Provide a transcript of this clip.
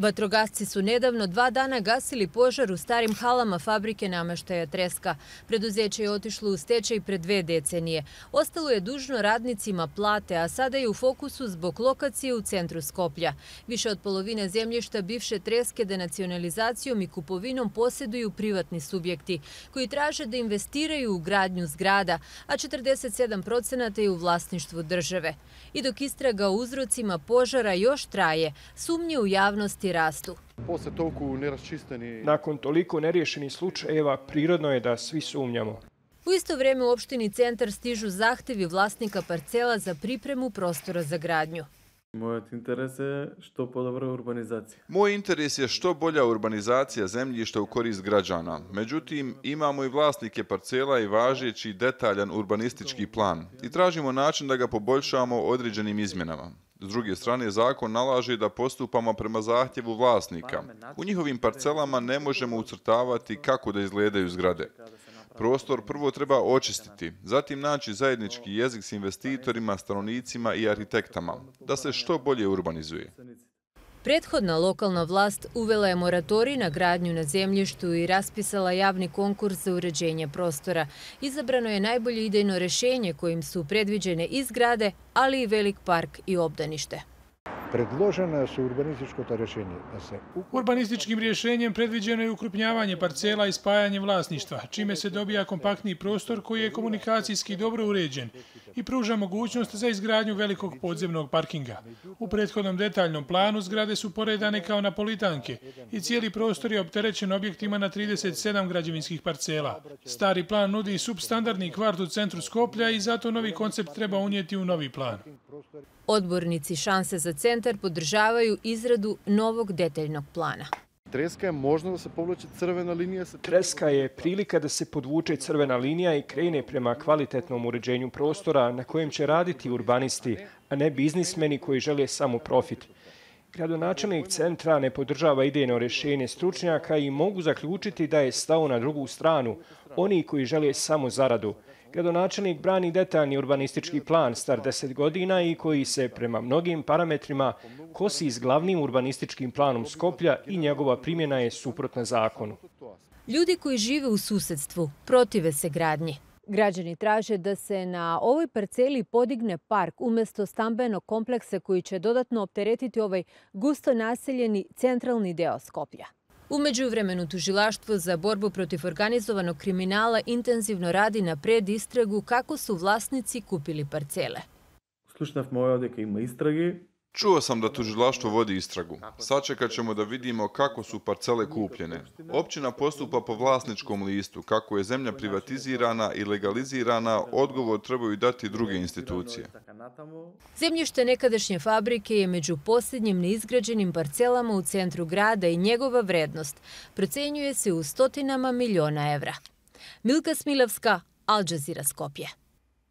Vatrogasci su nedavno 2 dana gasili požar u starim halama fabrike namještaja Treska. Preduzeće je otišlo u stečaj pred 2 decenije. Ostalo je dužno radnicima plate, a sada je u fokusu zbog lokacije u centru Skoplja. Više od polovine zemljišta bivše Treske denacionalizacijom i kupovinom posjeduju privatni subjekti, koji traže da investiraju u gradnju zgrada, a 47% je u vlasništvu države. I dok istraga o uzrocima požara još traje, sumnje u javnosti rastu. Nakon toliko neriješenih slučajeva, prirodno je da svi sumnjamo. U isto vrijeme u opštini Centar stižu zahtjevi vlasnika parcela za pripremu prostora za gradnju. Moj interes je što bolja urbanizacija zemljišta u korist građana. Međutim, imamo i vlasnike parcela i važeći detaljan urbanistički plan i tražimo način da ga poboljšamo određenim izmjenama. S druge strane, zakon nalaže da postupamo prema zahtjevu vlasnika. U njihovim parcelama ne možemo ucrtavati kako da izgledaju zgrade. Prostor prvo treba očistiti, zatim naći zajednički jezik s investitorima, stanovnicima i arhitektama, da se što bolje urbanizuje. Prethodna lokalna vlast uvela je moratorij na gradnju na zemljištu i raspisala javni konkurs za uređenje prostora. Izabrano je najbolje idejno rješenje kojim su predviđene i zgrade, ali i velik park i obdanište. Predloženo su urbanističko rješenje. Urbanističkim rješenjem predviđeno je ukrupnjavanje parcela i spajanje vlasništva, čime se dobija kompaktniji prostor koji je komunikacijski dobro uređen i pruža mogućnost za izgradnju velikog podzemnog parkinga. U prethodnom detaljnom planu zgrade su poredane kao napolitanke i cijeli prostor je opterećen objektima na 37 građevinskih parcela. Stari plan nudi substandardni kvart u centru Skoplja i zato novi koncept treba unijeti u novi plan. Odbornici Šanse za centar podržavaju izradu novog detaljnog plana. Treska je prilika da se podvuče crvena linija i krene prema kvalitetnom uređenju prostora na kojem će raditi urbanisti, a ne biznismeni koji žele samo profit. Gradonačelnik centra ne podržava idejno rješenje stručnjaka i mogu zaključiti da je stao na drugu stranu, oni koji žele samo zaradu. Gradonačelnik brani detaljni urbanistički plan star 10 godina i koji se prema mnogim parametrima kosi s glavnim urbanističkim planom Skoplja i njegova primjena je suprotna zakonu. Ljudi koji žive u susjedstvu protive se gradnji. Građani traže da se na ovoj parceli podigne park umjesto stambenog kompleksa koji će dodatno opteretiti ovaj gusto naseljeni centralni deo Skoplja. U međuvremenu tužilaštvo za borbu protiv organizovanog kriminala intenzivno radi na predistragu kako su vlasnici kupili parcele. Čuo sam da tužilaštvo vodi istragu. Sačekat ćemo da vidimo kako su parcele kupljene. Općina postupa po vlasničkom listu. Kako je zemlja privatizirana i legalizirana, odgovor trebaju dati druge institucije. Zemljište nekadašnje fabrike je među posljednjim neizgrađenim parcelama u centru grada i njegova vrednost procenjuje se u stotinama miliona evra. Milka Smilavska, Al Jazeera Skopje.